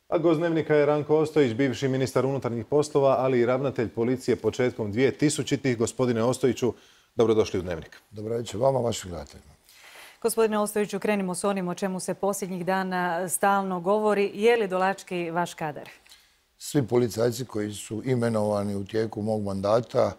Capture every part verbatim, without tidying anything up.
A gost Dnevnika je Ranko Ostojić, bivši ministar unutarnjih poslova, ali i ravnatelj policije početkom dvije tisućitih. Gospodine Ostojiću, dobrodošli u Dnevnik. Dobro večer vama, vašim gledateljima. Gospodine Ostojiću, krenimo s onim o čemu se posljednjih dana stalno govori. Je li Dolački vaš kadar? Svi policajci koji su imenovani u tijeku mog mandata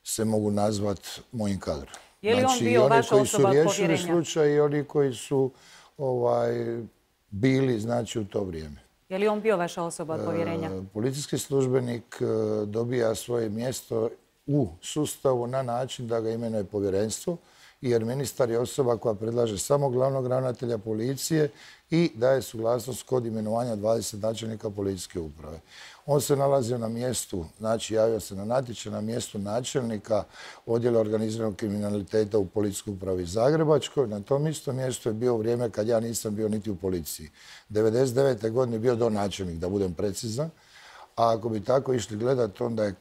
se mogu nazvati mojim kadrom. Je li on bio vaša osoba od povjerenja? Znači, i oni koji su riješili slučaj i oni koji su ovaj, bili znači, u to vrijeme. Je li on bio vaša osoba od povjerenja? E, policijski službenik e, dobija svoje mjesto u sustavu na način da ga imenuje povjerenstvo, jer ministar je osoba koja predlaže samo glavnog ravnatelja policije i daje suglasnost kod imenovanja dvadeset načelnika policijske uprave. On se nalazio na mjestu, znači javio se na natječaj na mjestu načelnika odjela organiziranog kriminaliteta u policijskoj upravi Zagrebačkoj. Na tom istom mjestu je bio vrijeme kad ja nisam bio niti u policiji. devedeset devete godine je bio donačelnik, da budem precizan. A ako bi tako išli gledati, onda je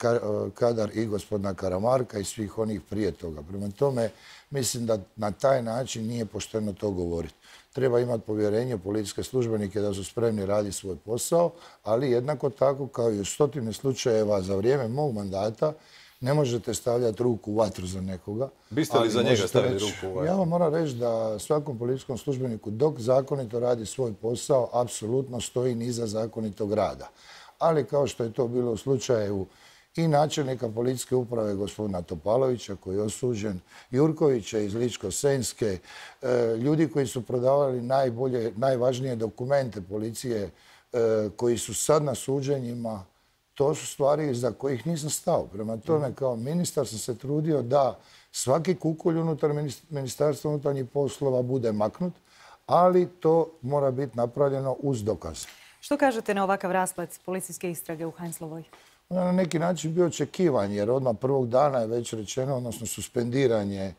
kadar i gospodina Karamarka i svih onih prije toga. Prema tome, mislim da na taj način nije pošteno to govoriti. Treba imati povjerenje u policijske službenike da su spremni raditi svoj posao, ali jednako tako kao i u stotine slučajeva za vrijeme mog mandata ne možete stavljati ruku u vatru za nekoga. Biste li za njega stavili reći, ruku u vatru? Ja vam moram reći da svakom policijskom službeniku dok zakonito radi svoj posao, apsolutno stoji niza zakonitog rada. Ali kao što je to bilo u slučaju i načelnika policijske uprave gospodina Topalovića koji je osuđen, Jurkovića iz Ličko-senjske, ljudi koji su prodavali najbolje, najvažnije dokumente policije koji su sad na suđenjima, to su stvari za kojih nisam stao. Prema tome, kao ministar sam se trudio da svaki kukolj unutar Ministarstva unutarnjih poslova bude maknut, ali to mora biti napravljeno uz dokaz. Što kažete na ovakav rasplet policijske istrage u Heinzlovoj? On je na neki način bio očekivan, jer odmah prvog dana je već rečeno, odnosno suspendiranje e,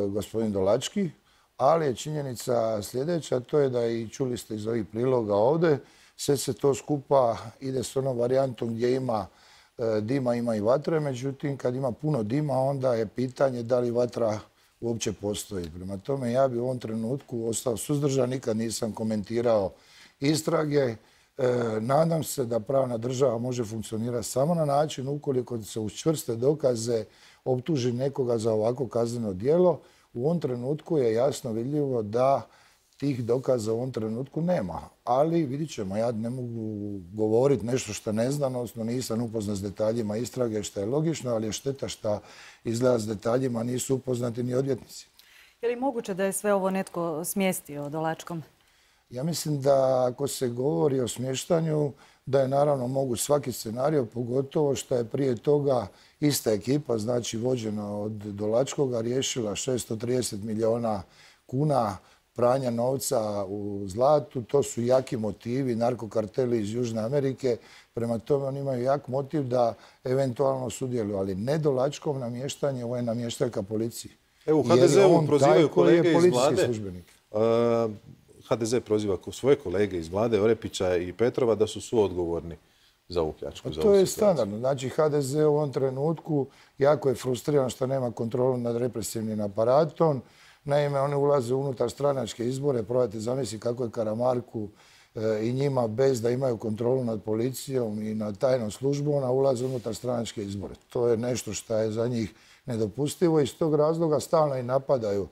gospodin Dolački, ali je činjenica sljedeća, to je da i čuli ste iz ovih priloga ovdje, sve se to skupa ide s onom varijantom gdje ima e, dima, ima i vatre, međutim kad ima puno dima, onda je pitanje da li vatra uopće postoji. Prema tome, ja bi u ovom trenutku ostao suzdržan, nikad nisam komentirao istrage. E, nadam se da pravna država može funkcionirati samo na način ukoliko se uz čvrste dokaze optuži nekoga za ovako kazneno djelo. U ovom trenutku je jasno vidljivo da tih dokaza u ovom trenutku nema. Ali vidit ćemo, ja ne mogu govoriti nešto što ne znam, odnosno nisam upoznat s detaljima istrage, što je logično, ali je šteta što izgleda s detaljima nisu upoznati ni odvjetnici. Je li moguće da je sve ovo netko smjestio Dolačkom? Ja mislim da ako se govori o smještanju, da je naravno moguć svaki scenario, pogotovo što je prije toga ista ekipa, znači vođena od Dolačkoga, riješila šesto trideset milijuna kuna pranja novca u zlatu. To su jaki motivi, narkokarteli iz Južne Amerike. Prema tome oni imaju jak motiv da eventualno sudjeluju, ali ne Dolačkom namještanje, ovo je namještaljka policije. Evo, u ha de zeu prozivaju kolege iz vlade. Uh, ha de ze proziva svoje kolege iz vlade, Orepića i Petrova, da su suodgovorni za ovu pljačku. To je standardno. Znači, ha de ze u ovom trenutku jako je frustriran što nema kontrolu nad represivnim aparatom. Naime, oni ulaze unutar stranačke izbore. Probajte zamisliti kako je Karamarku e, i njima bez da imaju kontrolu nad policijom i nad tajnom službom, ona ulaze unutar stranačke izbore. To je nešto što je za njih nedopustivo i iz tog razloga stalno i napadaju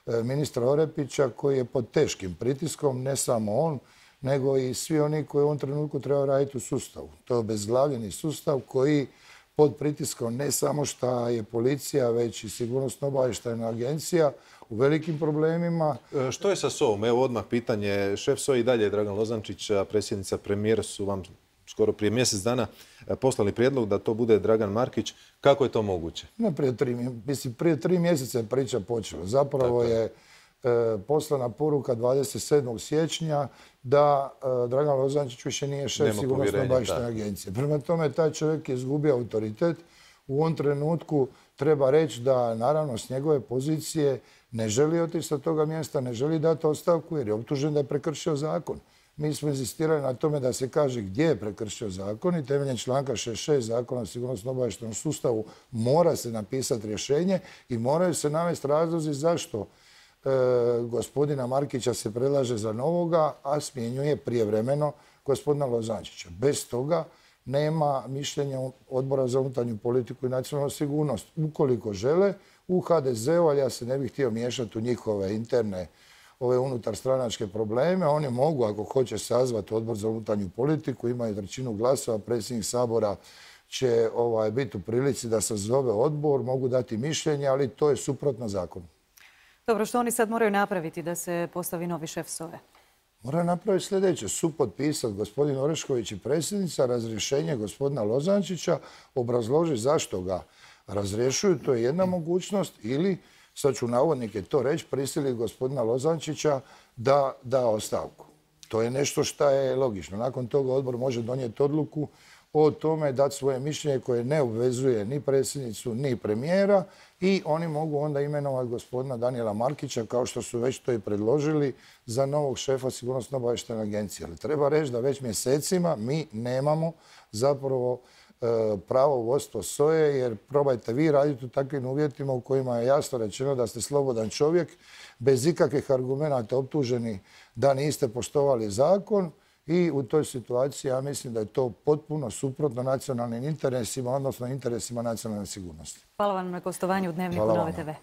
e, ministra Orepića koji je pod teškim pritiskom, ne samo on, nego i svi oni koji u ovom trenutku trebaju raditi u sustavu. To je obezglavljeni sustav koji pod pritiskom ne samo što je policija, već i sigurnosno-obavještajna agencija u velikim problemima. Što je sa S O A-om? Evo odmah pitanje. Šef S O A i dalje je Dragan Lozančić, a predsjednica premijer su vam skoro prije mjesec dana poslali prijedlog da to bude Dragan Markić. Kako je to moguće? Ne prije tri, mislim, prije tri mjeseca je priča počela. Zapravo je e, poslana poruka dvadeset sedmog siječnja da e, Dragan Lozančić više nije šef sigurnosno-obavještajne agencije. Prema tome, taj čovjek je izgubio autoritet. U ovom trenutku treba reći da naravno s njegove pozicije ne želi otići sa toga mjesta, ne želi dati ostavku jer je optužen da je prekršio zakon. Mi smo insistirali na tome da se kaže gdje je prekršio zakon i temeljem članka šezdeset šest Zakona o sigurnosno-obavještajnom sustavu mora se napisati rješenje i moraju se navesti razlozi zašto gospodina Markića se predlaže za novoga, a smjenjuje prijevremeno gospodina Lozančića. Bez toga nema mišljenja Odbora za unutarnju politiku i nacionalnu sigurnost. Ukoliko žele, u ha de zeu, ali ja se ne bih htio miješati u njihove interne ove unutar stranačke probleme, oni mogu, ako hoće, sazvati Odbor za unutarnju politiku, imaju trećinu glasova, predsjednik Sabora će ovaj, biti u prilici da sazove odbor, mogu dati mišljenje, ali to je suprotno zakonu. Dobro, što oni sad moraju napraviti da se postavi novi šef S O E? Moraju napraviti sljedeće, supotpisati gospodin Orešković i predsjednica, razrješenje gospodina Lozančića, obrazloži zašto ga razrješuju, to je jedna mogućnost, ili, sad ću navodnike to reći, prisili gospodina Lozančića da da ostavku. To je nešto što je logično. Nakon toga odbor može donijeti odluku o tome, dati svoje mišljenje koje ne obvezuje ni predsjednicu, ni premijera i oni mogu onda imenovati gospodina Danijela Markića, kao što su već to i predložili, za novog šefa Sigurnosno-obavještajne agencije. Ali treba reći da već mjesecima mi nemamo zapravo pravo vodstvo S O E, jer probajte vi raditi u takvim uvjetima u kojima je jasno rečeno da ste slobodan čovjek, bez ikakvih argumenata optuženi da niste poštovali zakon i u toj situaciji ja mislim da je to potpuno suprotno nacionalnim interesima, odnosno interesima nacionalne sigurnosti. Hvala vam na gostovanju u Dnevniku Nove te ve.